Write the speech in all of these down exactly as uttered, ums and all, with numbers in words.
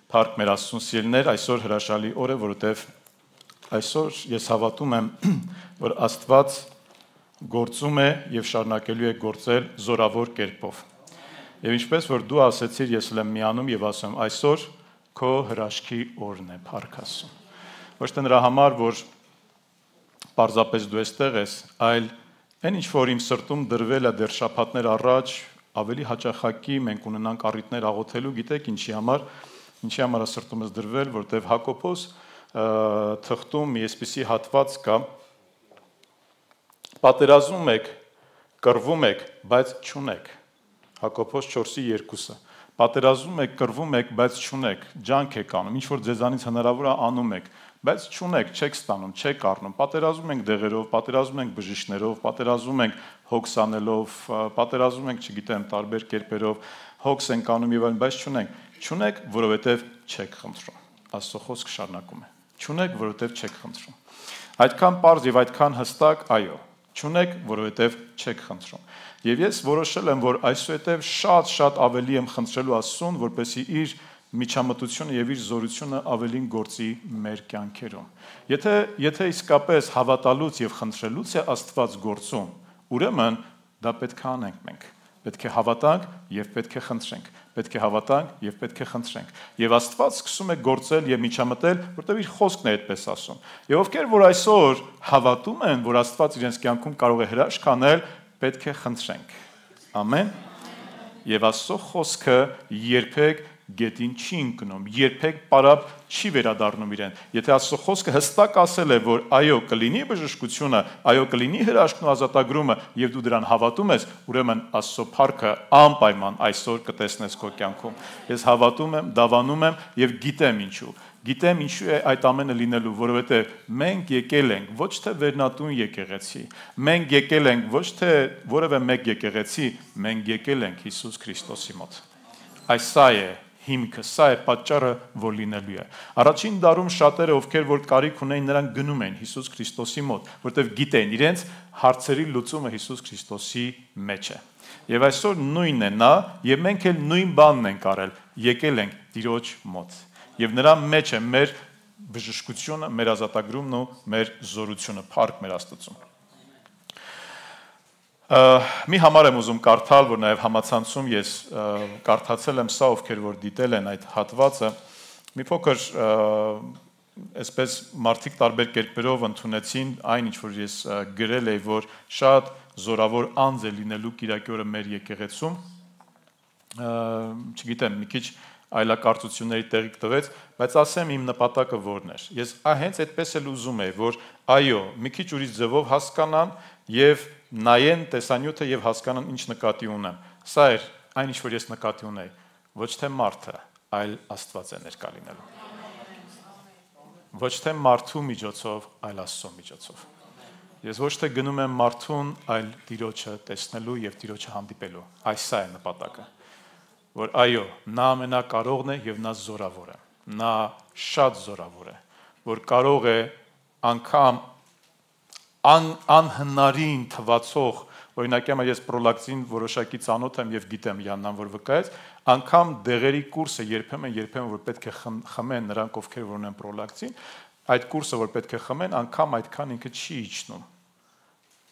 Փառք մեր Աստծուն սիրելիներ, այսօր հրաշալի օր է, որովհետև այսօր ես հավատում եմ, որ Աստված գործում է եւ շարունակելու է գործել զորավոր կերպով։ Եվ ինչպես որ դու ասեցիր, ես էլ եմ միանում եւ ասում, այսօր քո հրաշքի օրն է, փառք Աստծուն։ Ոչ թե նրա համար, որ պարզապես դու այստեղ ես, այլ այն ինչ որ իմ սրտում դրվել է դեռ շաբաթներ առաջ, ավելի հաճախակի մենք ունենանք առիթներ աղոթելու, գիտեք ինչի համար, ինչի համար է սրտումս դրվել, որտեղ Հակոբոս թղթում մի այսպիսի հատված կա, պատերազում եք, կռվում եք, բայց չունեք, Հակոբոս չորսի երկուսը, պատերազում եք, կռվում եք, բայց չունեք, ջանք եք անում, ինչ որ ձեզանից հնարավոր է անում եք, բայց չունեք, չեք ստանում, չեք առնում, պատերազում ենք դեղերով, պատերազում ենք բժիշկներով, պատերազում ենք հոգս անելով, պատերազում ենք, չգիտեմ, տարբեր կերպերով, հոգս ենք անում եւ այլն, բայց չունենք, չունեք, որովհետեւ չեք խնդրում։ Աստծո խոսքը շարունակում է։ Չունեք, որովհետեւ չեք խնդրում։ Այդքան པարզ եւ այդքան հստակ, այո, չունեք, որովհետեւ չեք խնդրում։ Եվ ես որոշել եմ, որ այսուհետեւ շատ-շատ ավելի եմ խնդրելու Աստծուն, որպեսզի իր միջամտությունը եւ իր զորությունը ավելին գործի մեր կյանքերում։ Եթե եթե իսկապես հավատալուց եւ խնդրելուց է Աստված գործում, ուրեմն դա պետք է անենք մենք։ Պետք է հավատանք եւ պետք է խնդրենք։ Պետք է հավատանք եւ պետք է խնդրենք։ Եվ Աստված սկսում է գործել եւ միջամտել, որտեղ իր խոսքն է այդպես ասում։ Եվ ովքեր որ այսօր հավատում են, որ Աստված իրենց կյանքում կարող է հրաշք անել, պետք է խնդրենք։ Ամեն։ Եվ Աստծո խոսքը երբեք գետին չի ընկնում, երբեք պարապ չի վերադառնում իրեն։ Եթե Աստծո խոսքը հստակ ասել է, որ այո, կլինի բժշկությունը, այո, կլինի հրաշքն ու ազատագրումը, եւ դու դրան հավատում ես, ուրեմն Աստծո փառքը անպայման այսօր կտեսնես քո կյանքում։ Ես հավատում եմ, դավանում եմ եւ գիտեմ ինչու։ Գիտեմ ինչու է այդ ամենը լինելու, որովհետեւ մենք եկել ենք ոչ թե վերնատուն եկեղեցի, մենք եկել ենք ոչ թե որևէ մեկ եկեղեցի, մենք եկել ենք Հիսուս Քրիստոսի մոտ։ Այս սա է հիմքը, սա է պատճառը, որ լինելու է։ Առաջին դարում շատերը, ովքեր որ կարիք ունեին, նրանք գնում են Հիսուս Քրիստոսի մոտ, որտեղ գիտեն իրենց հարցերի լուծումը Հիսուս Քրիստոսի մեջ է։ Եվ այսօր նույնն է նա, եւ մենք էլ նույն բանն ենք արել, եկել ենք Տիրոջ մոտ։ Եվ նրա մեջ է մեր բժշկությունը, մեր ազատագրումն ու մեր զորությունը, փառք մեր Աստծուն։ Մի համար եմ ուզում կարդալ, որ նաև համացանցում ես կարդացել եմ սա, ովքեր որ դիտել են այդ հատվածը, մի փոքր այսպես մարդիկ տարբեր կերպերով ընդունեցին այն, ինչ որ ես գրել էի, որ շատ զորավոր անձ է լինելու կիրակի օրը մեր եկեղեցում, չգիտեմ, մի քիչ այլակարծությունների տեղիք տվեց, բայց ասեմ իմ նպատակը որն էր։ Ես հենց այդպես էլ ուզում եի, որ այո, մի քիչ ուրիշ ձևով հասկանան եւ նայեն տեսանյութը եւ հասկանան ինչ նկատի ունեմ։ Սա էր այն ինչ որ ես նկատի ունեի, ոչ թե մարդը, այլ Աստված է ներկա լինելու։ Ոչ թե մարդու միջոցով, այլ Աստծո միջոցով։ Ես ոչ թե գնում եմ մարդուն, այլ Տիրոջը տեսնելու եւ Տիրոջը հանդիպելու։ Այս սա է նպատակը։ Որ այո, նա ամենակարողն է եւ նա զորավոր է։ Նա շատ զորավոր է, որ կարող է անգամ ան, անհնարին թվացող, օրինակ յամա ես պրոլակտին որոշակի ծանոթ եմ եւ գիտեմ Յաննան որ վկայեց, անգամ դեղերի կուրսը երբեմն երբեմն որ պետք է խմեն նրանք ովքեր որ ունեն պրոլակտին, այդ կուրսը որ պետք է խմեն, անգամ այդքան ինքը չի իջնում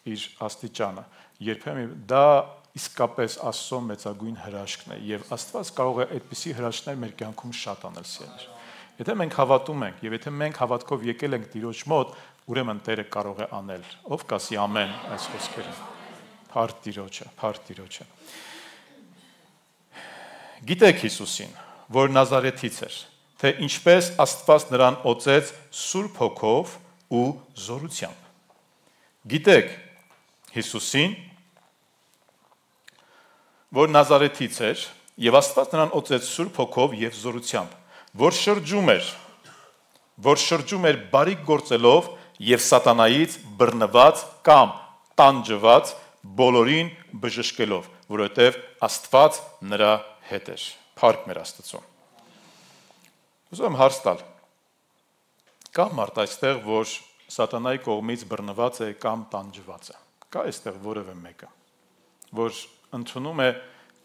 իր աստիճանը։ Երբեմն դա իսկապես Աստծո մեծագույն հրաշքն է եւ Աստված կարող է այդպիսի հրաշքներ մեր կյանքում շատ անել սիրելիներ։ Եթե մենք հավատում ենք եւ եթե մենք հավատքով եկել ենք Տիրոջ մոտ, ուրեմն Տերը կարող է անել։ Ով կասի ամեն այս խոսքերը։ Փառք Տիրոջը, փառք Տիրոջը։ Գիտեք Հիսուսին, որ Նազարեթից էր, թե ինչպես Աստված նրան օծեց Սուրբ Հոգով ու զորությամբ։ Գիտեք Հիսուսին, որ Նազարեթից էր, եւ Աստված նրան օծեց Սուրբ Հոգով եւ զորությամբ, որ շրջում էր, որ շրջում էր բարիք գործելով եւ սատանայից բռնված կամ տանջված բոլորին բժշկելով, որովհետեւ Աստված նրա հետ էր։ Փառք մեր Աստծուն։ Ուզում եմ հարց տալ. կա մարդ այստեղ, որ սատանայի կողմից բռնված է կամ տանջված է։ Կա այստեղ որևէ մեկը, որ ընդունում է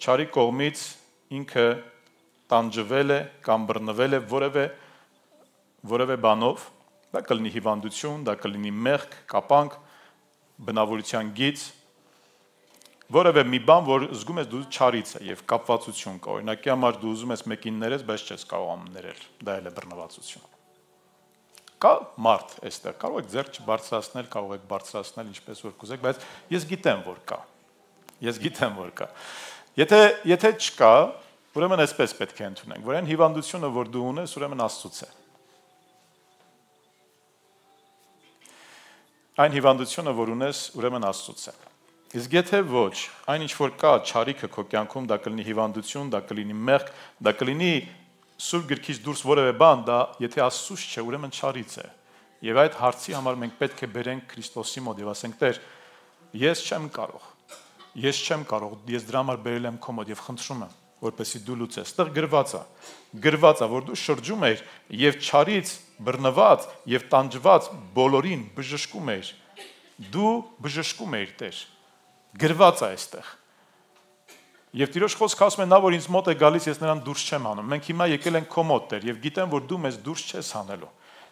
չարի կողմից ինքը տանջվել է կամ բռնվել է որևէ որևէ բանով, դա կլինի հիվանդություն, դա կլինի մեղք, կապանք, բնավորության գիծ, որևէ մի բան, որ զգում ես դու չարից է եւ կապվածություն կա, օրինակի համար դու ուզում ես մեկին ներես, բայց չես կարող ներել, դա էլ է բռնվածություն։ Կա մարդ այստեղ, կարող եք ձեռք չբարձրացնել, կարող եք բարձրացնել ինչպես որ կուզեք, բայց ես գիտեմ, որ կա։ Ես գիտեմ, որ կա։ Եթե եթե չկա, ուրեմն այսպես պետք է ընդունենք, որ այն հիվանդությունը, որ դու ունես, ուրեմն Աստծուց է։ Այն հիվանդությունը, որ ունես, ուրեմն Աստծուց է։ Իսկ եթե ոչ, այն ինչ որ կա չարիքը քո կյանքում, դա կլինի հիվանդություն, դա կլինի մեղք, դա կլինի Սուրբ գրքից դուրս որևէ բան, դա եթե Աստծուց չէ, ուրեմն չարից է։ Եվ այդ հարցի համար մենք պետք է բերենք Քրիստոսի մոտ եւ ասենք. Տեր, ես չեմ կարող։ Ես չեմ կարող, ես դրա համար բերել եմ քո մոտ եւ խնդրում եմ, որպեսզի դու լուծես։ Այդտեղ գրված է, գրված է, որ դու շրջում ես եւ չարից բռնված եւ տանջված բոլորին բժշկում ես։ Դու բժշկում ես, Տեր։ Գրված է այստեղ։ Եվ Տիրոջ խոսքը ասում է, նա որ ինձ մոտ է գալիս, ես նրան դուրս չեմ հանում։ Մենք հիմա եկել ենք քո մոտ, Տեր, եւ գիտեմ, որ դու մեզ դուրս չես հանելու։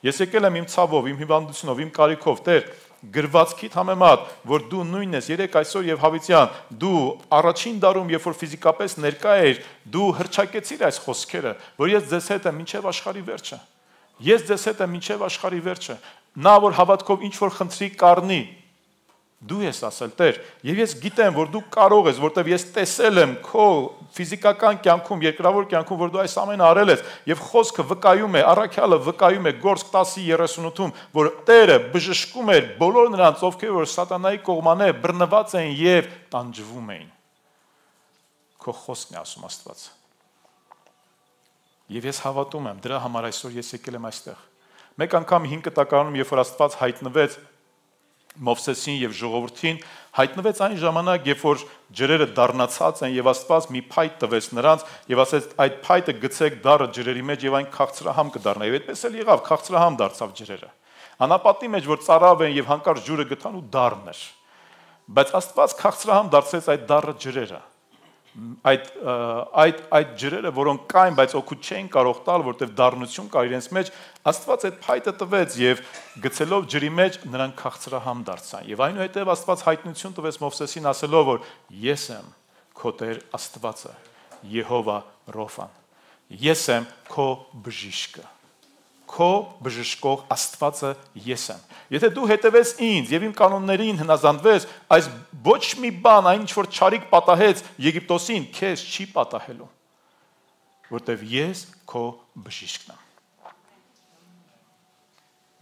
Ես եկել եմ իմ ցավով, իմ հիվանդությունով, իմ կարիքով, Տեր, գրվածքիդ համեմատ, որ դու նույնն ես երեք այսօր եւ հավիտյան, դու առաջին դարում, երբ որ ֆիզիկապես ներկա էր, դու հրճակեցիր այս խոսքերը, որ ես ձեզ հետ եմ մինչեւ աշխարհի վերջը։ Ես ձեզ հետ եմ մինչեւ աշխարհի վերջը։ Նա որ հավատքով ինչ որ խնդրի կառնի, դու ես ասել, Տեր, եւ ես գիտեմ, որ դու կարող ես, որտեվ ես տեսել եմ քո ֆիզիկական կյանքում, երկրավոր կյանքում, որ դու այս ամենը արել ես, եւ խոսքը վկայում է, առաքյալը վկայում է Գործք տասը երեսունութում, որ Տերը բժշկում էր բոլոր նրանց, ովքեր որ սատանայի կողմանե բռնված էին եւ տանջվում էին։ Քո խոսքն է ասում Աստված։ Եվ ես հավատում եմ, դրա համար այսօր ես եկել եմ այստեղ։ Մեկ անգամ հինգ տակարանում, երբ որ Աստված հայտնվեց Մովսեսին եւ ժողովրդին, հայտնվեց այն ժամանակ, երբ որ ջրերը դառնացած են եւ Աստված մի փայտ տվեց նրանց եւ ասեց այդ փայտը գցեք դառը ջրերի մեջ եւ այն քաղցրահամ կդառնա։ Եվ այդպես էլ եղավ, քաղցրահամ դարձավ ջրերը։ Անապատի մեջ որ ծարավ են եւ հանկարծ ջուրը գտան ու դառն էր։ Բայց Աստված քաղցրահամ դարձրեց այդ դառը ջրերը։ Այդ այդ այդ ջրերը, որոնք կային, բայց օգուտ չէին կարող տալ, որտեղ դառնություն կար իրենց մեջ, Աստված այդ փայտը տվեց եւ գցելով ջրի մեջ նրանք քաղցրահամ դարձան։ Եվ այնուհետև Աստված հայտնություն տվեց Մովսեսին ասելով, որ ես եմ քո Տեր Աստվածը, Եհովա Ռոֆան։ Ես եմ քո բժիշկը։ Քո բժշկող Աստվածը ես եմ։ Եթե դու հետևես ինձ եւ իմ կանոններին հնազանդվես, այս ոչ մի բան, այն ինչ որ չարիք պատահեց Եգիպտոսին, քեզ չի պատահելու, որտեվ ես քո բժիշկն եմ։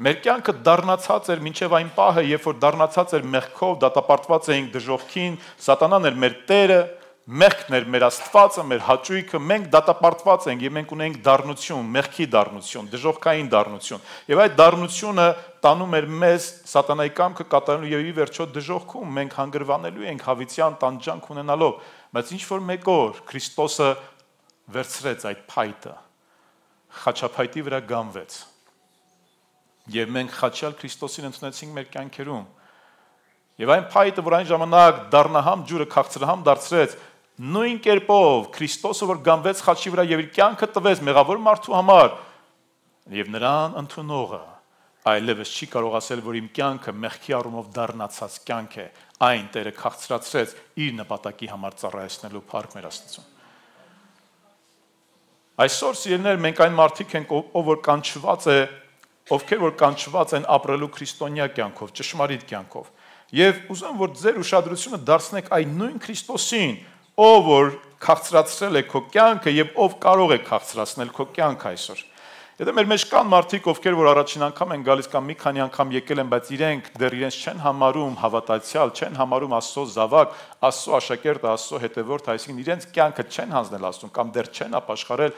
Մեր կյանքը դառնացած էր մինչև այն պահը, երբ որ դառնացած էր մեղքով, դատապարտված էինք դժոխքին, սատանան էր մեր տերը, մեղքն էր մեր Աստվածը, մեր հաճույքը, մենք դատապարտված ենք եւ մենք ունենք դառնություն, մեղքի դառնություն, դժոխքային դառնություն։ Եվ այդ դառնությունը տանում էր մեզ սատանայի կամքը կատարելու եւ ի վերջո դժոխքում մենք հանգրվանելու ենք հավիտյան տանջանք ունենալով, բայց ինչ որ մեկ օր Քրիստոսը վերցրեց այդ փայտը, խաչափայտի վրա գանվեց։ Եվ մենք խաչյալ Քրիստոսին ընդունեցինք մեր կյանքերում։ Եվ այն փայտը, որ այն ժամանակ դառնահամ ջուրը քաղցրահամ դարձրեց, նույն կերպով Քրիստոսը, որ գանվեց խաչի վրա եւ իր կյանքը տվեց մեղավոր մարդու համար, եւ նրան ընդունողը այլևս չի կարող ասել, որ իմ կյանքը մեղքի առումով դառնացած կյանք է, այն Տերը քաղցրացրեց իր նպատակի համար ծառայեցնելու փառք մեր Աստծուն։ Այսօր սիրելիներ, մենք այն մարդիկ ենք, ով որ կանչված է, ովքեր որ կանչված են ապրելու քրիստոնյա կյանքով, ճշմարիտ կյանքով։ Եվ ուզում որ ձեր ուշադրությունը դարձնեք այն նույն Քրիստոսին, ով որ քաղցրացրել է քո կյանքը եւ ով կարող է քաղցրացնել քո կյանքը այսօր։ Եթե մեր մեջ կան մարդիկ, ովքեր որ առաջին անգամ են գալիս կամ մի քանի անգամ եկել են, բայց իրենք դեռ իրենց չեն համարում հավատացյալ, չեն համարում Աստծո զավակ, Աստծո աշակերտը, Աստծո հետևորդը, այսինքն իրենց կյանքը չեն հանձնել Աստծուն կամ դեռ չեն ապաշխարել,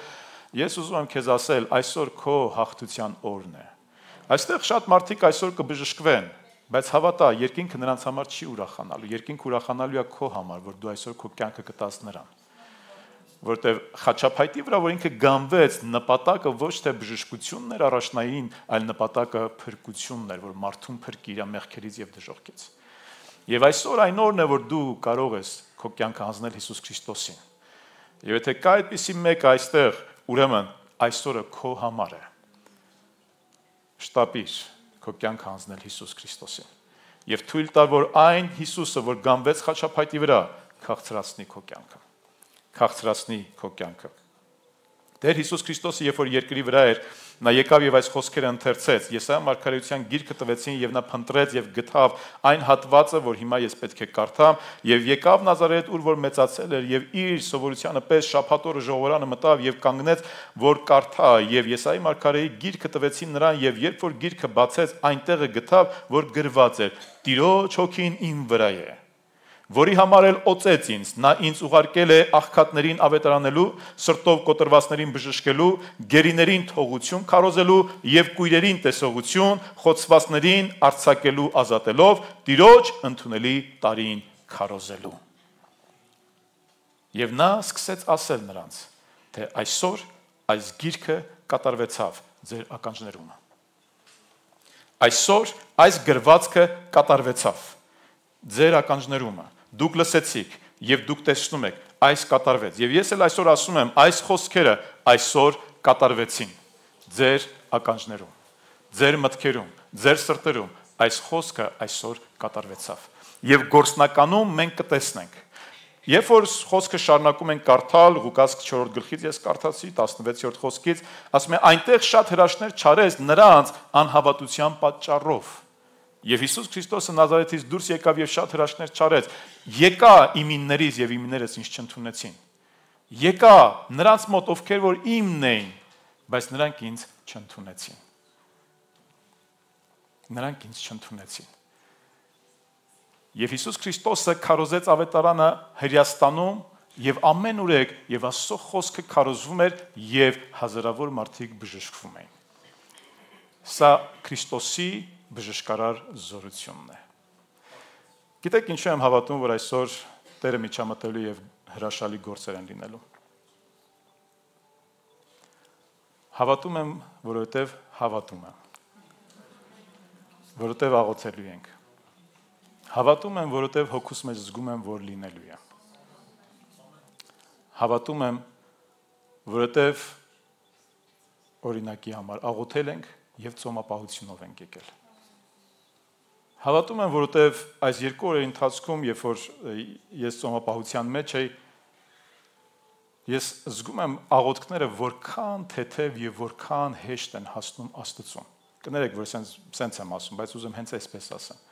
ես ուզում եմ քեզ ասել, այսօր քո հաղթության օրն է։ Այստեղ շատ մարդիկ այսօր կբժշկվեն, բայց հավատա, երկինքը նրանց համար չի ուրախանալու, երկինքը ուրախանալու է քո համար, որ դու այսօր քո կյանքը կտաս նրան։ Որտեւ խաչափայտի վրա, որ ինքը գանվեց, նպատակը ոչ թե բժշկությունն էր առաջնային, այլ նպատակը փրկությունն էր, որ մարդուն փրկի իր մեղքերից եւ դժոխքից։ Եվ այսօր այն օրն է, որ դու կարող ես քո կյանքը հանձնել Հիսուս Քրիստոսին։ Եվ եթե կա այդպիսի մեկը այստեղ, ուրեմն այսօրը քո համար է։ Շտապիր քո կյանքը հանձնել Հիսուս Քրիստոսին եւ թույլ տար, որ այն Հիսուսը, որ գանվեց խաչապայտի վրա, քաղցրացնի քո կյանքը։ Քաղցրացնի քո կյանքը։ Տեր Հիսուս Քրիստոսը, երբ որ երկրի վրա էր, նա եկավ եւ այս խոսքերը ընթերցեց։ Եսայիա մարգարեության գիրքը տվեցին եւ նա փնտրեց եւ գտավ այն հատվածը, որ հիմա ես պետք է կարդամ, եւ եկավ Նազարեթ, ուր որ մեծացել էր, եւ իր սովորությանը պես շաբաթ օրը ժողովրանը մտավ եւ կանգնեց, որ կարդա, եւ Եսայիա մարգարեի գիրքը տվեցին նրան, եւ երբ որ գիրքը բացեց, այնտեղը գտավ, որ գրված էր. Տիրոջ հոգին իմ վրա է, որի համար էլ օծեց ինձ, նա ինձ ուղարկել է աղքատներին ավետարանելու, սրտով կոտրվածներին բժշկելու, գերիներին թողություն քարոզելու եւ կույրերին տեսողություն, խոցվածներին արձակելու ազատելով, Տիրոջ ընդունելի տարին քարոզելու։ Եվ նա սկսեց ասել նրանց, թե այսօր այս գիրքը կատարվեցավ ձեր ականջներում։ Այսօր այս գրվածքը կատարվեցավ ձեր ականջներում։ Դուք լսեցիք եւ դուք տեսնում եք, այս կատարվեց։ Եվ ես էլ այսօր ասում եմ, այս խոսքերը այսօր կատարվեցին ձեր ականջներում, ձեր մտքերում, ձեր սրտերում, այս խոսքը այսօր կատարվեցավ։ Եվ գործնականում մենք կտեսնենք։ Երբ որ խոսքը շարունակում ենք կարդալ, Ղուկաս չորրորդ գլխից ես կարդացի տասնվեցերորդ խոսքից, ասում է այնտեղ շատ հրաշքներ չարեց նրանց անհավատության պատճառով։ Եվ Հիսուս Քրիստոսը Նազարեթից դուրս եկավ եւ շատ հրաշքներ չարեց։ Եկա իմիններից եւ իմիներս ինձ չընդունեցին։ Եկա նրանց մոտ, ովքեր որ իմն էին, բայց նրանք ինձ չընդունեցին։ Նրանք ինձ չընդունեցին։ Եվ Հիսուս Քրիստոսը քարոզեց ավետարանը Հրեաստանում եւ ամեն ուրեք եւ Աստծո խոսքը քարոզվում էր եւ հազարավոր մարդիկ բժշկվում էին։ Սա Քրիստոսի բժշկարար զորությունն է։ Գիտեք ինչու եմ հավատում, որ այսօր Տերը միջամտելու եւ հրաշալի գործեր են լինելու։ Հավատում եմ, որովհետեւ հավատում եմ։ Որովհետեւ աղոթելու ենք։ Հավատում եմ, որովհետև հոգուս մեջ զգում եմ, որ լինելու է։ Հավատում եմ, որովհետև օրինակի համար աղոթել ենք եւ ծոմապահությունով ենք եկել։ Հավատում եմ, որովհետև այս երկու օրերի ընթացքում, երբ որ ես ծոմապահության մեջ էի, ես զգում եմ աղոթքները որքան թեթև եւ որքան հեշտ են հասնում Աստծուն։ Կներեք, որ սենց սենց եմ ասում, բայց ուզում հենց այսպես ասեմ։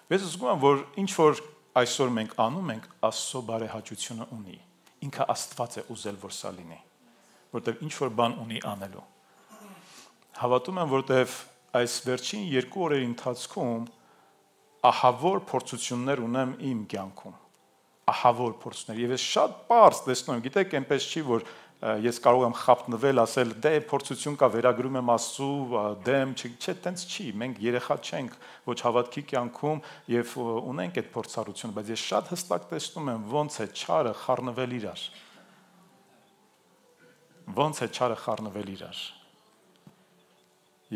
Ես զգում եմ, որ ինչ որ այսօր մենք անում ենք, Աստծո բարեհաճությունը ունի։ Ինքը Աստված է ուզել, որ սա լինի, որտեղ ինչ որ բան ունի անելու։ Հավատում եմ, որտեղ այս վերջին երկու օրերի ընթացքում ահավոր փորձություններ ունեմ իմ կյանքում։ Ահավոր փորձություններ։ Եվ ես շատ པարզ տեսնում եմ, գիտեք, այնպես չի, որ ես կարող եմ խապնվել, ասել, դե փորձություն կա, վերագրում եմ Աստծու դեմ, չէ, տենց չի, մենք երեխա չենք, ոչ հավատքի կյանքում եւ ունենք այդ փորձառությունը, բայց ես շատ հստակ տեսնում եմ ոնց է չարը խառնվել իրար։ Ոնց է չարը խառնվել իրար։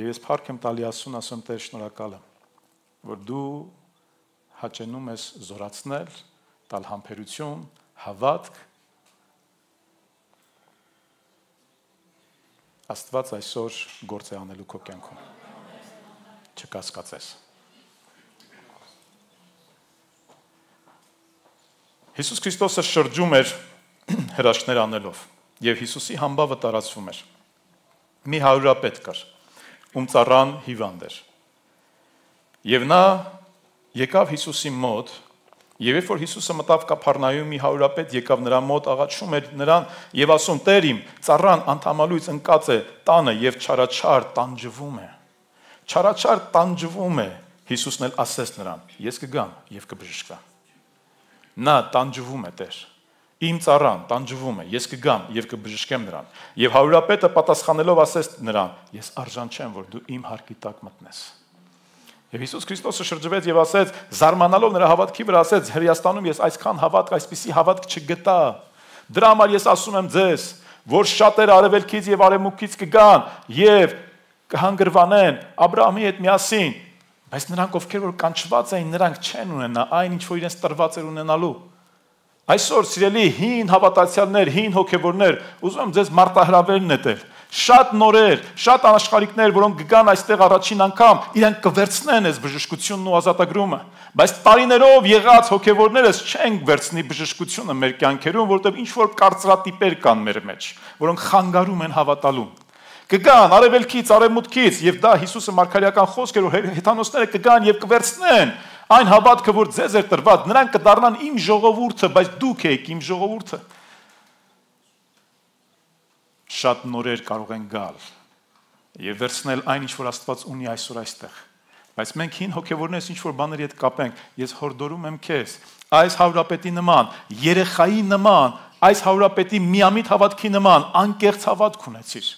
Եվ ես փառք եմ տալի Աստծուն, ասում Տեր շնորհակալ եմ, որ դու հաճենում ես զորացնել, տալ համբերություն, հավատք։ Աստված այսօր գործ է անելու քո կյանքում։ Չկասկածես։ Հիսուս Քրիստոսը շրջում էր հրաշքներ անելով եւ Հիսուսի համբավը տարածվում էր։ Մի հարյուրապետ կար, ում ծառան հիվանդ էր։ Եվ նա եկավ Հիսուսի մոտ, եւ երբ որ Հիսուսը մտավ Կափառնայում, մի հարյուրապետ եկավ նրա մոտ, աղաչում էր նրան եւ ասում. «Տեր իմ, ծառան անդամալույց ընկած է տանը եւ չարաչար տանջվում է»։ Չարաչար տանջվում է։ Հիսուսն էլ ասեց նրան. «Ես կգամ եւ կբժշկվա»։ Նա տանջվում է, Տեր։ Իմ ծառան տանջվում է, ես կգամ եւ կբժշկեմ նրան։ Եվ հարյուրապետը պատասխանելով ասեց նրան. «Ես արժան չեմ, որ դու իմ հարկի տակ մտնես»։ Եվ Հիսուս Քրիստոսը շրջվեց եւ ասեց, զարմանալով նրա հավատքի վրա, ասեց. «Հրեաստանում ես այսքան հավատք, այսպիսի հավատք չգտա։ Դրա համար ես ասում եմ ձեզ, որ շատերը արևելքից եւ արևմուտքից կգան եւ կհանգրվանեն Աբրահամի հետ միասին, բայց նրանք, ովքեր որ կանչված էին, նրանք չեն ունենա այն, ինչ որ իրենց տրված էր ունենալու»։ Այսօր սիրելի հին հավատացյալներ, հին հոգևորներ, ուզում եմ ձեզ մարտահրավեր նետել։ Շատ նորեր, շատ անաշխարհիկներ, որոնք կգան այստեղ առաջին անգամ, իրենք կվերցնեն այս բժշկությունն ու ազատագրումը, բայց տարիներով եղած հոգևորներս չեն վերցնի բժշկությունը մեր կյանքերում, որովհետև ինչ որ կարծրատիպեր կան մեր մեջ, որոնք խանգարում են հավատալուն։ Կգան արևելքից, արևմուտքից, եւ դա Հիսուսը մարգարեական խոսք էր, որ հեթանոսները կգան եւ կվերցնեն այն հավատքը, որ ձեզ էր տրված, նրանք կդառնան իմ ժողովուրդը, բայց դուք եք իմ ժողովուրդը։ Շատ նորեր կարող են գալ եւ վերցնել այն, ինչ որ Աստված ունի այսօր այստեղ։ Բայց մենք հին հոգևորներս ինչ որ բաների հետ կապենք, ես հորդորում եմ քեզ, այս հարուրապետի նման, երեխայի նման, այս հարուրապետի միամիտ հավատքի նման անկեղծ հավատք ունեցիր։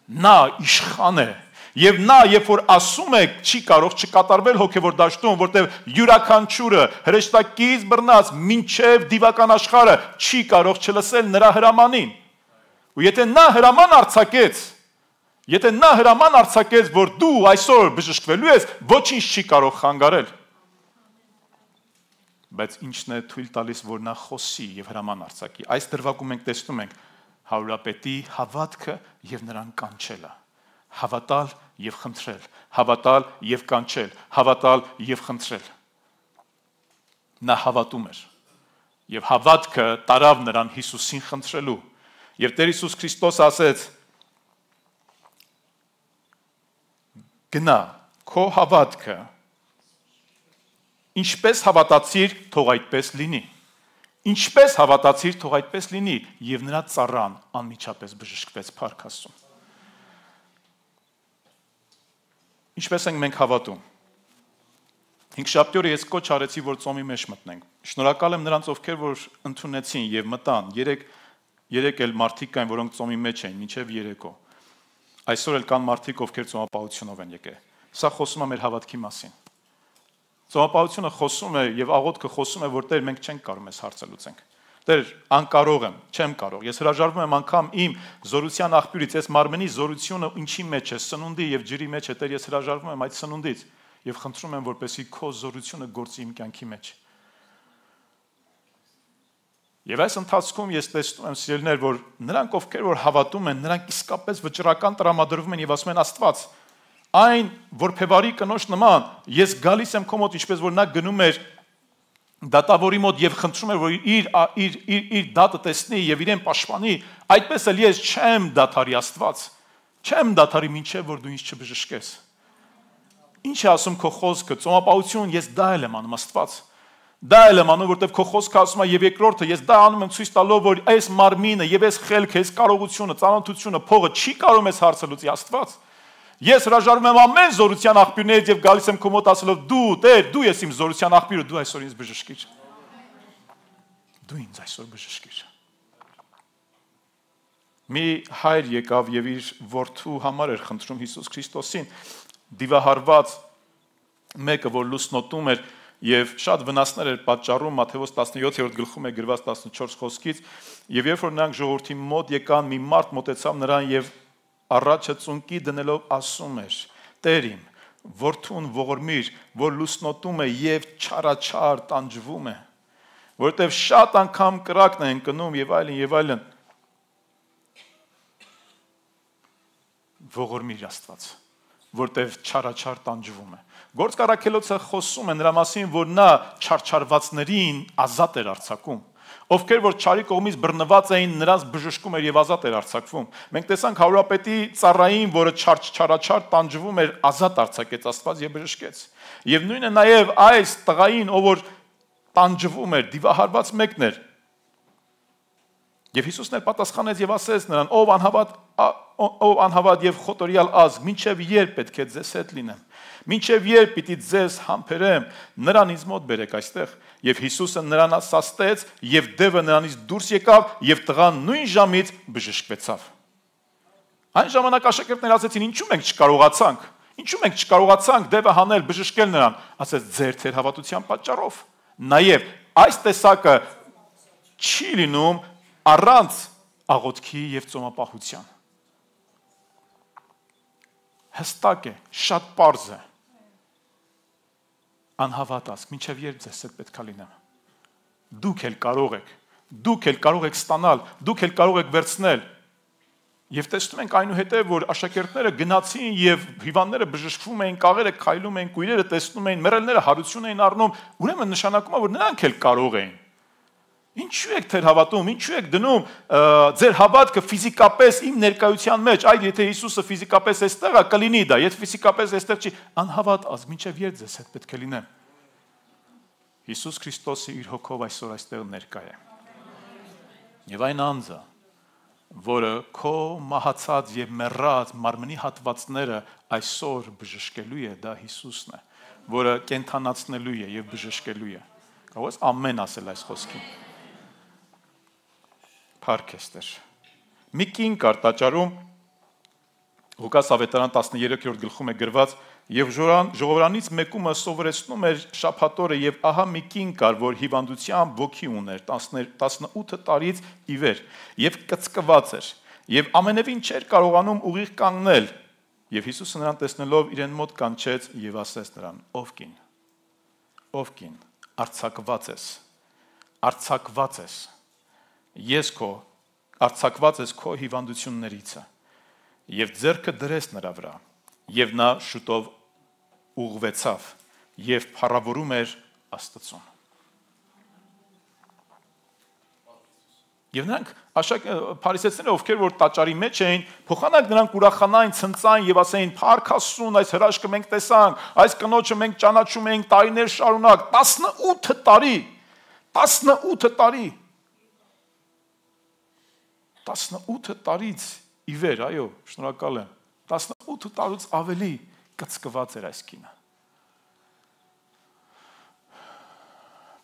Նա իշխան է, եւ նա, երբ որ ասում է, չի կարող չկատարվել հոգևոր դաշտում, որտեղ յուրաքանչյուրը հրեշտակից բռնած մինչև դիվական աշխարհը չի կարող չլսել նրա հրամանին։ Ու եթե նա հրաման արձակեց, եթե նա հրաման արձակեց, որ դու այսօր բժշկվելու ես, ոչինչ չի կարող խանգարել։ Բայց ինչն է թույլ տալիս, որ նա խոսի եւ հրաման արձակի։ Այս դրվագում մենք տեսնում ենք հարուրապետի հավատքը եւ նրան կանչելը։ Հավատալ եւ խնդրել, հավատալ եւ կանչել, հավատալ եւ խնդրել։ Նա հավատում էր եւ հավատքը տարավ նրան Հիսուսին խնդրելու։ Եվ Տեր Հիսուս Քրիստոս ասեց. գնա, քո հավատքը ինչպես հավատացիր, թող այդպես լինի։ Ինչպես հավատացիր, թող այդպես լինի, եւ նրա ծառան անմիջապես բժշկվեց, փառք Աստծուն։ Ինչպես ենք մենք հավատում։ Հինգշաբթի օրը ես կոչ արեցի, որ ծոմի մեջ մտնենք։ Շնորհակալ եմ նրանց, ովքեր որ ընդունեցին եւ մտան։ Երեք երեք էլ մարդիկ կային, որոնք ծոմի մեջ էին, մինչեւ երեկո։ Այսօր էլ կան մարդիկ, ովքեր ծոմապահությունով են եկել։ Սա խոսում է մեր հավատքի մասին։ Ծոմապահությունը խոսում է եւ աղոթքը խոսում է, որ Տեր մենք չենք կարող մեզ հարցը լուծենք։ Տեր, անկարող եմ, չեմ կարող։ Ես հրաժարվում եմ անգամ իմ զորության աղբյուրից, այս մարմնի զորությունը ինչի մեջ է, սնունդի եւ ջրի մեջ է, Տեր, ես հրաժարվում եմ այդ սնունդից եւ խնդրում եմ, որպեսզի քո զորությունը գործի իմ կյանքի մեջ։ Եվ այս ընթացքում ես տեսնում եմ, սիրելիներ, որ նրանք, ովքեր որ հավատում են, նրանք իսկապես վճռական տրամադրվում են եւ ասում են Աստված, այն որբևարի կնոջ նման, ես գալիս եմ քո մոտ, ինչպես որ նա գնում էր դատավորի մոտ եւ խնդրում էր, որ իր իր իր իր դատը տեսնի եւ իրեն պաշտպանի, այդպես էլ ես չեմ դատարի Աստված, չեմ դատարի մինչեւ որ դու ինձ չբժշկես։ Ինչ է ասում քո խոսքը, ծոմապահություն, ես դա էլ եմ անում Աստված։ Դա էլ եմ անում, որտեվ քո խոսքը ասում է եւ երկրորդը, ես դա անում եմ ցույց տալով, որ այս մարմինը եւ այս խելքը, այս կարողությունը, ծանոթությունը, փողը չի կարող մեզ հարցը լուծի Աստված։ Ես հրաժարվում եմ ամեն զորության աղբյուրներից եւ գալիս եմ քո մոտ ասելով դու, Տեր, դու ես իմ զորության աղբյուրը, դու այսօր ինձ բժշկիր։ Դու ինձ այսօր բժշկիր։ Մի հայր եկավ եւ իր որդու համար էր խնդրում Հիսուս Քրիստոսին, դիվահարված մեկը, որ լուսնոտում էր եւ շատ վնասներ էր պատճառում, Մատթեոս տասնյոթերորդ գլխում է գրված տասնչորս խոսքից, եւ երբ որ նրանք ժողովրդի մոտ եկան, մի մարդ մոտեցավ նրան եւ առաջը ծունկի դնելով ասում էր. Տեր իմ, որդուն ողորմիր, որ լուսնոտում է եւ չարաչար տանջվում է, որտեւ շատ անգամ կրակն է ընկնում եւ այլն եւ այլն։ Ողորմիր Աստված, որտեւ չարաչար տանջվում է։ Գործք առաքելոցը խոսում է նրա մասին, որ նա չարչարվածներին ազատ էր արձակում։ Ովքեր որ չարի կողմից բռնված էին, նրանց բժշկում էր եւ ազատ էր արձակվում։ Մենք տեսանք հարուրապետի ծառային, որը չարչարաչար տանջվում էր, ազատ արձակեց Աստված եւ բժշկեց։ Եվ նույնը նաեւ այս տղային, ով որ տանջվում էր, դիվահարված մեկն էր։ Եվ Հիսուսն էլ պատասխանեց եւ ասեց նրան. ով անհավատ ով անհավատ եւ խոտորյալ ազգ, մինչեւ երբ պետք է ձեզ հետ լինեմ։ Մինչև երբ պիտի ձեզ համբերեմ, նրան ինձ մոտ բերեք այստեղ։ Եվ Հիսուսը նրան ասացտեց, եւ դևը նրանից դուրս եկավ, եւ տղան նույն ժամից բժշկվեցավ։ Այն ժամանակ աշակերտները ասեցին. ինչու մենք չկարողացանք։ Ինչու մենք չկարողացանք դևը հանել, բժշկել նրան։ Ասեց ձեր թեր հավատության պատճառով։ Նաեւ այս տեսակը չի լինում առանց աղոթքի եւ ծոմապահության։ Հստակ է, շատ պարզ է։ Անհավատ ասք, մինչև երբ ձեզ հետ պետք է լինեմ։ Դուք էլ կարող եք, Դուք էլ կարող եք ստանալ, դուք էլ կարող եք վերցնել։ Եվ տեսնում ենք այնուհետև, որ աշակերտները գնացին եւ հիվանդները բժշկվում էին, կաղերը քայլում էին, կույրերը տեսնում էին, մեռելները հարություն էին առնում, ուրեմն նշանակում է, որ նրանք էլ կարող էին։ Ինչու եք թեր հավատում, ինչու եք դնում ձեր հավատքը ֆիզիկապես իմ ներկայության մեջ, այլ եթե Հիսուսը ֆիզիկապես այստեղ է, կլինի դա, եթե ֆիզիկապես այստեղ չի, անհավատ ազգ, մինչև երբ ձեզ հետ պետք է լինեմ։ Հիսուս Քրիստոսը իր հոգով այսօր այստեղ ներկա է։ Եվ այն անձը, որը քո մահացած եւ մեռած մարմնի հատվածները այսօր բժշկելու է, դա Հիսուսն է, որը կենթանացնելու է եւ բժշկելու է։ Կարող ես ամեն ասել այս խոսքին։ Փառք Աստծո։ Մի կին կար տաճարում Ղուկաս ավետարան տասներեքրորդ գլխում է գրված եւ ժողովրանից մեկումը սովորեցնում էր շաբաթօրը եւ ահա մի կին կար, որ հիվանդությամբ ոգի ուներ տասնութ տարից ի վեր եւ կծկված էր եւ ամենևին չէր կարողանում ուղիղ կանգնել եւ Հիսուսը նրան տեսնելով իրեն մոտ կանչեց եւ ասեց նրան. ով կին, ով կին, արցակված ես, արցակված ես, ես քո արցակված ես քո հիվանդություններից եւ ձեռքը դրեց նրա վրա եւ նա շուտով ուղղվեցավ եւ փառավորում էր Աստծուն։ Եվ նրանք աշակ փարիսեցիները, ովքեր որ տաճարի մեջ էին, փոխանակ նրանք ուրախանային, ցնծային եւ ասեին. «Փառք Աստծուն, այս հրաշքը մենք տեսանք, այս կնոջը մենք ճանաչում ենք տարիներ շարունակ, տասնութ տարի, տասնութ տարի, տասնութ տարից ի վեր, այո, շնորհակալ եմ, տասնութ տարուց ավելի կծկված էր այս կինը»։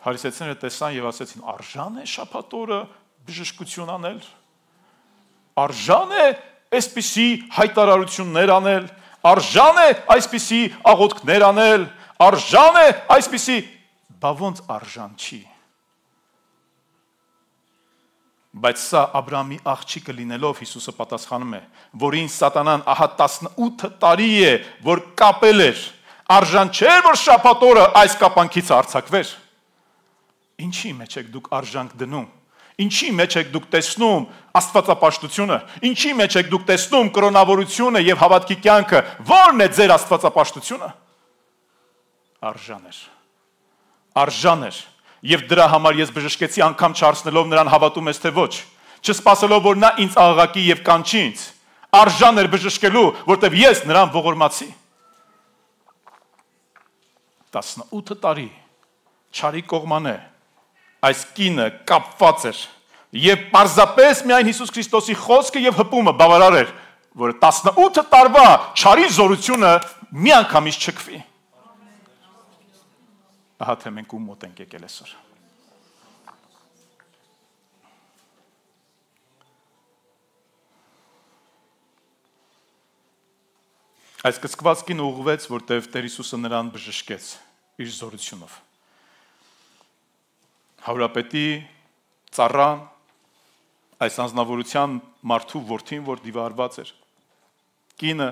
Փարիսեցիները տեսան եւ ասեցին. «Արժան է շաբաթօրը բժշկություն անել, արժան է այսպիսի հայտարարություններ անել, արժան է այսպիսի աղոթքներ անել, արժան է այսպիսի, բա ոնց արժան չի»։ Բայց սա Աբրահամի աղջիկը լինելով Հիսուսը պատասխանում է, որին սատանան ահա տասնութ տարի է, որ կապել էր, արժան չէր, որ շաբաթօրը այս կապանքից արձակվեր։ Ինչի մեջ եք դուք արժանք դնում, ինչի մեջ եք դուք տեսնում աստվածապաշտությունը, ինչի մեջ եք դուք տեսնում կրոնավորությունը եւ հավատքի կյանքը, ո՞րն է ձեր աստվածապաշտությունը։ Արժան էր, արժան էր, եւ դրա համար ես բժշկեցի, անգամ չարցնելով նրան հավատում ես թե ոչ, չսպասելով որ նա ինձ աղաղակի եւ կանչի ինձ, արժան էր բժշկելու, որտեւ ես նրան ողորմացի։ տասնութ տարի չարի կողմանե այս կինը կապված էր եւ պարզապես միայն Հիսուս Քրիստոսի խոսքը եւ հպումը բավարար էր, որ տասնութ տարվա չարի զորությունը մի անգամից չքվի։ Ահա թե մենք ում մոտ ենք եկել այսօր։ Այս կծկված կինը ուղղվեց, որտեղ Տեր Հիսուսը նրան բժշկեց իր զորությունով։ Հարուրապետի ծառան, այս անձնավորության մարդու որդին, որ դիվարված էր, կինը,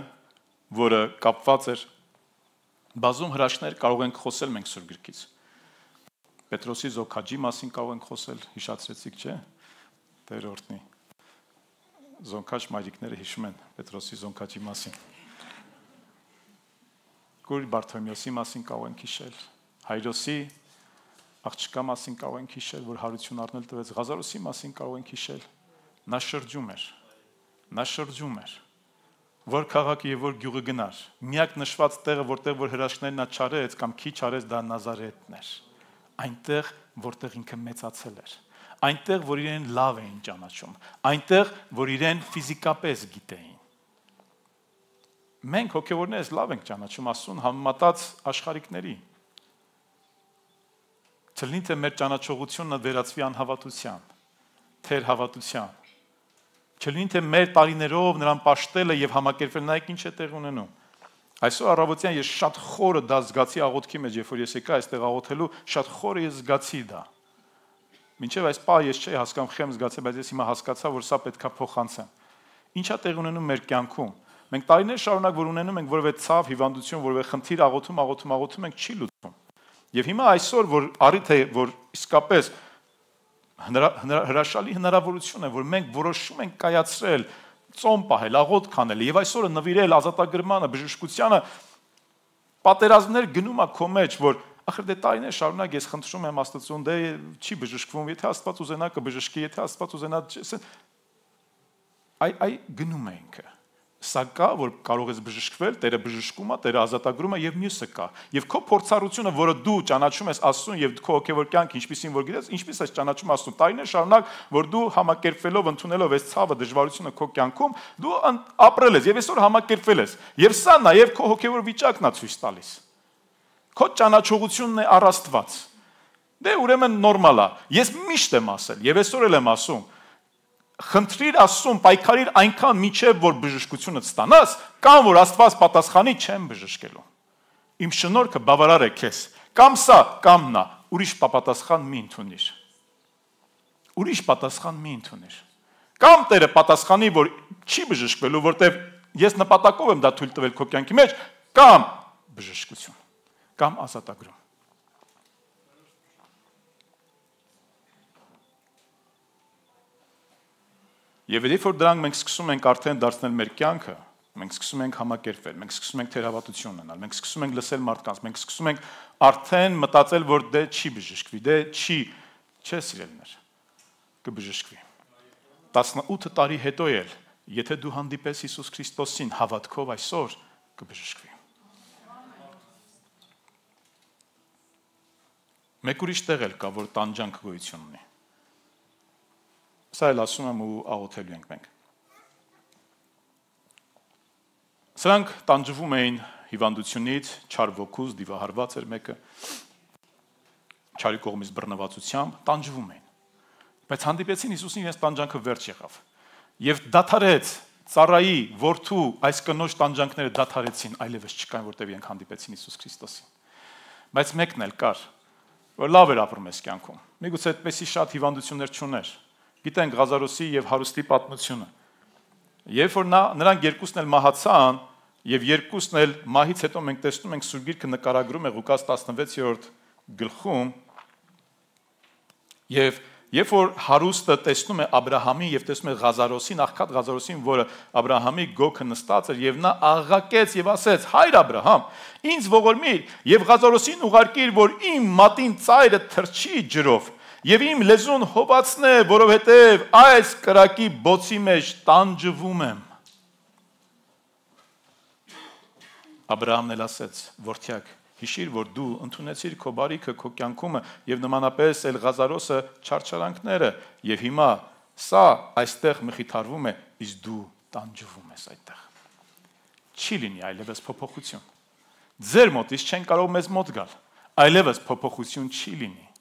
որը կապված էր, բազում հրաշքներ կարող ենք խոսել մենք Սուրբ Գրքից։ Պետրոսի զոքաջի մասին կարող ենք խոսել, հիշացրեցիք, չէ՞։ Տեր օրհնի։ Զոնքաջ մայրիկները հիշում են Պետրոսի զոնքաջի մասին։ Գորի Բարթոմեոսի մասին կարող ենք հիշել, Հայրոսի աղջկա մասին կարող ենք հիշել, որ հարություն առնել տվեց, Ղազարոսի մասին կարող ենք հիշել։ Նա շրջում էր, նա շրջում էր, որ քաղաքը եւ որ գյուղը գնար։ Միակ նշված տեղը, որտեղ որ հրաշքներն նա չարեց կամ քիչ արեց, դա Նազարեթն էր։ Այնտեղ, որտեղ ինքը մեծացել էր, այնտեղ, որ իրեն լավ էին ճանաչում, այնտեղ, որ իրեն ֆիզիկապես գիտեին։ Մենք հոգևորներս լավ ենք ճանաչում Աստծուն համեմատած աշխարհիկների։ Չլինի թե մեր ճանաչողությունը վերածվի անհավատության, թեր հավատության։ Չլինի թե մեր տարիներով նրան պաշտելը եւ համակերպել, նայեք ինչ է տեղ ունենում։ Այսօր առավոտյան ես շատ խորը դա զգացի աղոթքի մեջ, երբ որ ես եկա այստեղ աղոթելու, շատ խորը ես զգացի դա։ Մինչև այս պահ ես չէի հասկանում, խեմ զգացել, բայց ես հիմա հասկացա, որ սա պետքա փոխանցեմ։ Ինչա տեղ ունենում մեր կյանքում։ Մենք տարիներ շարունակ որ ունենում ենք որևէ ցավ, հիվանդություն, որևէ խնդիր աղոթում, աղոթում, աղոթում ենք չի լուծվում։ Եվ հիմա այսօր որ առիթ է, որ իսկապես հրաշալի հնարավորություն է, որ մենք որոշում ենք կայացրել, ծոմ պահել, աղոթք անել եւ այսօրը նվիրել ազատագրմանը, բժշկությանը, պատերազմներ գնում է քո մեջ, որ ախր դե տարիներ շարունակ ես խնդրում եմ Աստծուն, դե չի բժշկվում, եթե Աստված ուզենա կբժշկի, եթե Աստված ուզենա, այ այ գնում է ինքը։ Սա կա, որ կարող ես բժշկվել, Տերը բժշկում է, Տերը ազատագրում է եւ մյուսը կա։ Եվ քո փորձառությունը, որը դու ճանաչում ես Աստծուն եւ քո հոգեվոր կյանք ինչպեսին որ գիտես, ինչպես ես ճանաչում Աստծուն, տարիներ շարունակ, որ դու համակերպվելով, ընդունելով այս ցավը, դժվարությունը քո կյանքում, դու ապրել ես եւ այսօր համակերպվել ես։ Եվ սա նաեւ քո հոգեվոր վիճակն է ցույց տալիս։ Քո ճանաչողությունն է առ Աստված։ Դե ուրեմն նորմալ է։ Ես միշտ եմ ասել եւ այսօր էլ եմ ասում, խնդրիր Աստծուն, պայքարիր այնքան միջև որ բժշկությունը ստանաս, կամ որ Աստված պատասխանի չեմ բժշկելու։ Իմ շնորհքը բավարար է քեզ։ Կամ սա, կամ նա, ուրիշ պատասխան մի ընդունիր։ Ուրիշ պատասխան մի ընդունիր։ Կամ Տերը պատասխանի, որ չի բժշկվելու, որտեվ ես նպատակով եմ դա թույլ տվել քո կյանքի մեջ, կամ բժշկություն, կամ ազատագրում։ Եվ երբ որ դրանք մենք սկսում ենք արդեն դարձնել մեր կյանքը, մենք սկսում ենք համակերպվել, մենք սկսում ենք թերահավատություն ունենալ, մենք սկսում ենք լսել մարդկանց, մենք սկսում ենք արդեն մտածել, որ դե չի բժշկվի, դե չի, չէ սիրելիներ, կբժշկվի։ տասնութ տարի հետո էլ, եթե դու հանդիպես Հիսուս Քրիստոսին հավատքով այսօր, կբժշկվի։ Մեկ ուրիշ տեղ էլ կա, որ տանջանք գոյություն ունի։ Սա էլ ասում եմ ու աղոթելու ենք մենք։ Սրանք տանջվում էին հիվանդությունից, չար ոգուց, դիվահարված էր մեկը, չարի կողմից բռնվածությամբ, տանջվում էին։ Բայց հանդիպեցին Հիսուսին, իրենց տանջանքը վերջ եղավ։ Եվ դադարեց ծառայի, որդու այս կնոջ տանջանքները դադարեցին, այլևս չկային, որտեղ իրենք հանդիպեցին Հիսուս Քրիստոսին։ Բայց մեկն էլ կար, որ լավ էր ապրում այս կյանքում։ Միգուցե այդպեսի շատ հիվանդություններ չուներ։ Գիտենք Ղազարոսի եւ հարուստի պատմությունը։ Երբ որ նա նրանք երկուսն էլ մահացան եւ երկուսն էլ մահից հետո մենք տեսնում ենք Սուրբ Գիրքը նկարագրում է Ղուկաս տասնվեցերորդ գլխում եւ երբ որ հարուստը տեսնում է Աբ รา համին եւ տեսնում է Ղազարոսին, աղքատ Ղազարոսին, որը Աբ รา համի գոքը նստած էր եւ նա աղաղակեց եւ ասեց. «Հայր Աբ รา համ, ինձ ողորմիր եւ Ղազարոսին ուղարկիր, որ իմ մատին ծայրը թրջի ջրով»։ Եվ իմ լեզուն հոբացնե, որովհետև այս կրակի բոցի մեջ տանջվում եմ։ Աբ รา համն էլ ասեց. «Որդյակ, հիշիր, որ դու ընդունեցիր քո բարիքը քո կյանքում եւ նմանապես էլ Ղազարոսը չարչարանքները եւ հիմա սա այստեղ մխիթարվում է, իսկ դու տանջվում ես այդտեղ»։ Չի լինի այլևս փոփոխություն։ Ձեր մոտից չեն կարող մեզ մոտ գալ։ Այլևս փոփոխություն չի լինի։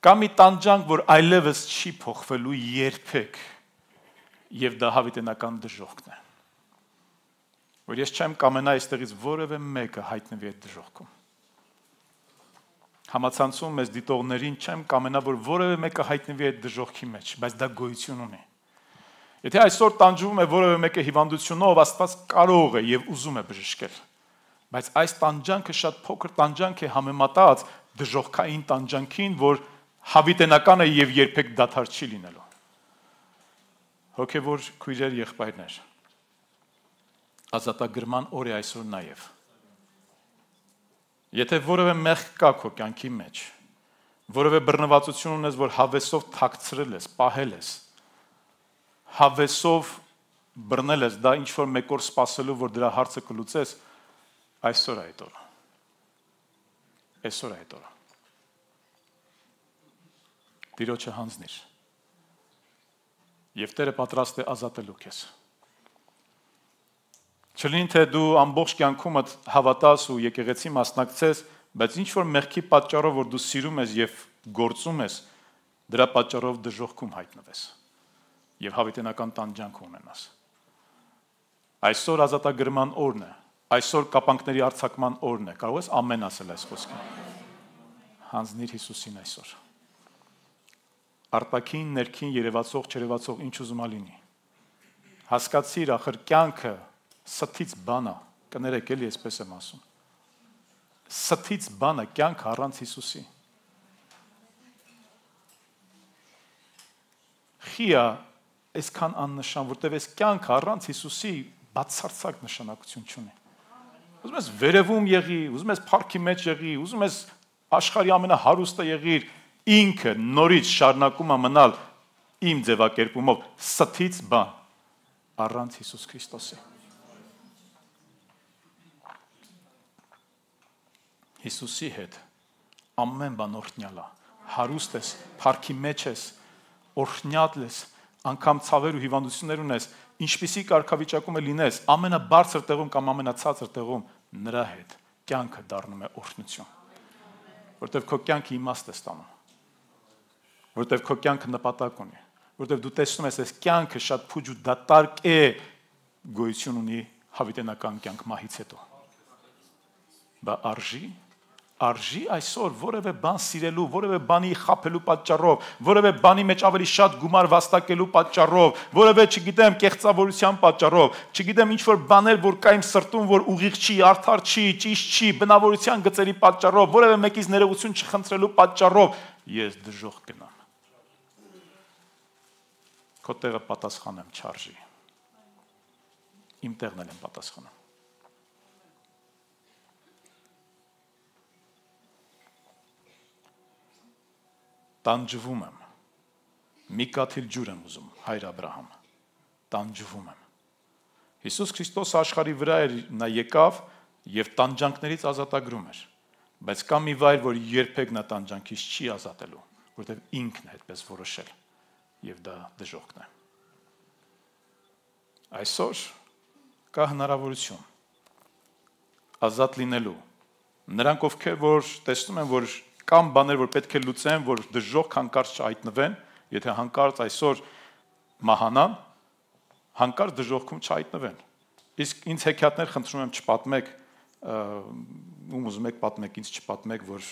Կա մի տանջանք, որ այլևս չի փոխվելու երբեք, եւ դա հավիտենական դժոխքն է։ Որ ես չեմ կամենա այստեղից որևէ մեկը հայտնվի այդ դժոխքում։ Համացանցում մեզ դիտողներին չեմ կամենա, որ որևէ մեկը հայտնվի այդ դժոխքի մեջ, բայց դա գոյություն ունի։ Եթե այսօր տանջվում է որևէ մեկը հիվանդությունով, Աստված կարող է եւ ուզում է բժշկել։ Բայց այս տանջանքը շատ փոքր տանջանք է համեմատած դժոխքային տանջանքին, որ հավիտենական է եւ երբեք դադար չի լինելու։ Հոգեվոր քույրեր, եղբայրներ, ազատագրման օր է այսօր նաեւ։ Եթե որևէ մեղք կա քո կյանքի մեջ, որևէ բռնվածություն ունես, որ հավեսով թաքցրել ես, պահել ես, հավեսով բռնել ես, դա ինչ որ մեկ օր սпасելու, որ դրա հարցը կլուծես, այսօր է այդ օրը։ Այսօր է այդ օրը։ Տիրոջը հանձնիր։ Եվ Տերը պատրաստ է ազատելու քեզ։ Չլինի թե դու ամբողջ կյանքումդ հավատաս ու եկեղեցի մասնակցես, բայց ինչ որ մեղքի պատճառով, որ դու սիրում ես եւ գործում ես, դրա պատճառով դժոխքում հայտնվես եւ հավիտենական տանջանք ունենաս։ Այսօր ազատագրման օրն է, այսօր կապանքների արձակման օրն է։ Կարող ես ամեն ասել այս խոսքը։ Հանձնիր Հիսուսին այսօր։ Արտաքին, ներքին, երևացող, չերևացող ինչ ուզում ալինի։ Հասկացիր, ախր կյանքը սթից բան է, կներեք էլի այսպես եմ ասում։ Սթից բան է կյանքը առանց Հիսուսի։ որտեվ է այսքան աննշան, որտեվ այս կյանքը առանց Հիսուսի բացարձակ նշանակություն չունի։ Ուզում ես վերևում եղի, ուզում ես փառքի մեջ եղի, ուզում ես աշխարհի ամենահարուստը եղիր, ինքը նորից շարունակում է մնալ իմ ձևակերպումով ստից բան առանց Հիսուս Քրիստոսի։ Հիսուսի հետ ամեն բան օրհնյալ է, հարուստ ես, փառքի մեջ ես, օրհնյալ ես, անգամ ցավեր ու հիվանդություններ ունես, ինչպիսի կարգավիճակում է լինես, ամենաբարձր տեղում կամ ամենացածր տեղում նրա հետ կյանքը դառնում է օրհնություն, որտեղ քո կյանքը իմաստ է ստանում, որտեղ քո կյանքը նպատակ ունի, որտեղ դու տեսնում ես, այս կյանքը շատ փուջ ու դատարկ է գոյություն ունի հավիտենական կյանք մահից հետո։ Բա արժի Արժի այսօր որևէ բան սիրելու, որևէ բանի խաբելու պատճառով, որևէ բանի մեջ ավելի շատ գումար վաստակելու պատճառով, որևէ, չգիտեմ, կեղծավորության պատճառով, չգիտեմ, ինչ որ բաներ, որ կա իմ սրտում, որ ուղիղ չի, արդար չի, ճիշտ չի, բնավորության գծերի պատճառով, որևէ մեկից ներողություն չխնդրելու պատճառով, ես դժոխք գնամ։ Քո տեղը պատասխանեմ չարժի։ Իմ տեղն էլ եմ պատասխանում։ Տանջվում եմ, մի կաթիլ ջուր եմ ուզում, հայր Աբրահամ, տանջվում եմ։ Հիսուս Քրիստոսը աշխարհի վրա էր, նա եկավ և տանջանքներից ազատագրում էր, բայց կա մի վայր, որ երբեք նա տանջանքից չի ազատելու, որտեղ ինքն է այդպես որոշել, և դա դժոխքն է։ Այսօր կա հնարավորություն ազատ լինելու, նրանք ովքեր, որ տեսնում են, որ կամ բաներ, որ պետք է լուծեն, որ դժոխք հանկարծ չհայտնվեն, եթե հանկարծ այսօր մահանան, հանկարծ դժոխքում չհայտնվեն։ Իսկ ինձ հեքիաթներ խնդրում եմ չպատմեք, ում ուզում եք պատմեք, ինձ չպատմեք, որ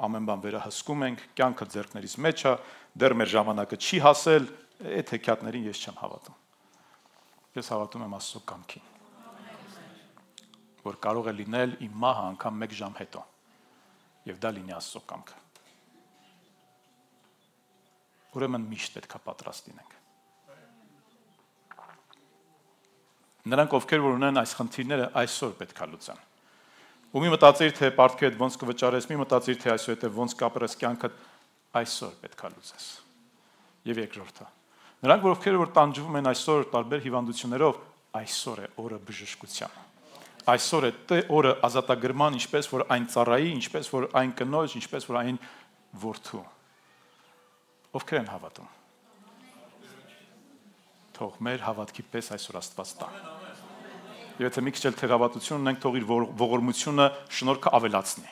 ամեն բան վերահսկում ենք, կյանքը ձեռքներիս մեջ է, դեռ մեր ժամանակը չի հասել, այդ հեքիաթներին ես չեմ հավատում։ Ես հավատում եմ Աստծո կամքին, որ կարող է լինել իմ մահը անգամ մեկ ժամ հետո։ Եվ դա լինի Աստծո կամքը։ Ուրեմն միշտ պետք է պատրաստ լինենք։ Նրանք, ովքեր որ ունեն այս խնդիրները, այսօր պետք է լուծեն։ Ու մի մտածիր, թե պարտքի հետ ոնց կվճարես, մի մտածիր, թե այսօր հետ ոնց կապրես կյանքդ, այսօր պետք է լուծես։ Եվ երկրորդը։ Նրանք, ովքեր որ տանջվում են այսօր տարբեր հիվանդություններով, այսօր է օրը բժշկության։ Այսօր է օրը ազատագրման, ինչպես որ այն ծառայի, ինչպես որ այն կնոջ, ինչպես որ այն որդու։ Ովքեր են հավատում։ Թող մեր հավատքի պես այսօր Աստված տա։ Եթե մի քիչ էլ թերավատություն ունենք, թող իր ողորմությունը շնորհքը ավելացնի։